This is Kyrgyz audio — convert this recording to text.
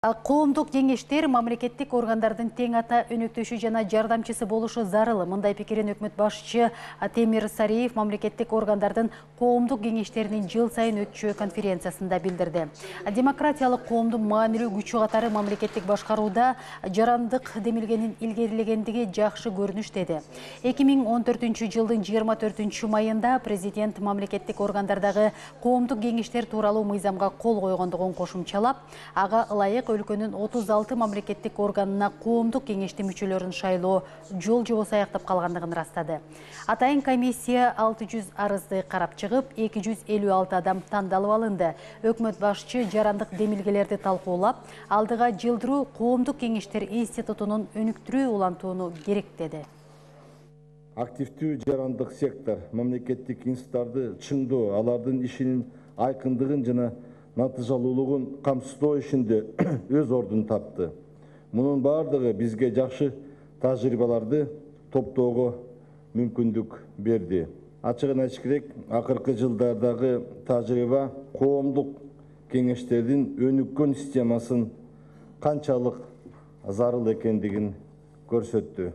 Коомдук кеңештер мамлекеттик органдардын тең ата өнөктөшү жана жардамчысы болушу зарыл. Мындай пикирин өкмөт башчы Темир Сариев мамлекеттик органдардын коомдук кеңештеринин жыл сайын өтчү конференциясында билдирди. Демократиялык коомдун маанилүү күчү катары мамлекеттик башкарууда жарандык демилгенин илгерилегендиги жакшы көрүнүш деди. 2014-жылдын 24 майында президент мамлекеттик органдардагы коомдук кеңештер тууралуу мыйзамга кол койгондугун кошумчалап, ага ылайык өлкөнүн 36 мамлекеттик органына коомдук кеңештин мүчөлөрүн шайлоо жол жобосу аяктап калгандыгын ырастады. Атайын комиссия 600 арызды карап чыгып, 256 адам тандалып алынды. Өкмөт башчы жарандык демилгелерди талкуулап, алдыга жылдыруу коомдук кеңештер институтунун өнүктүрүү улантууну керек деди. Активдүү жарандык сектор мамлекеттик институттарды чыңдоо, алардын ишинин айкындыгын жана натыйжалуулугун камсыздоо ишинде өз ордун тапты. Мунун бардыгы бизге жакшы тажрыйбаларды топтоого мүмкүндүк берди. Ачыгын айтыш керек, акыркы жылдардагы тажрыйба коомдук кеңештердин өнүккөн системасын канчалык зарыл экендигин көрсөттү.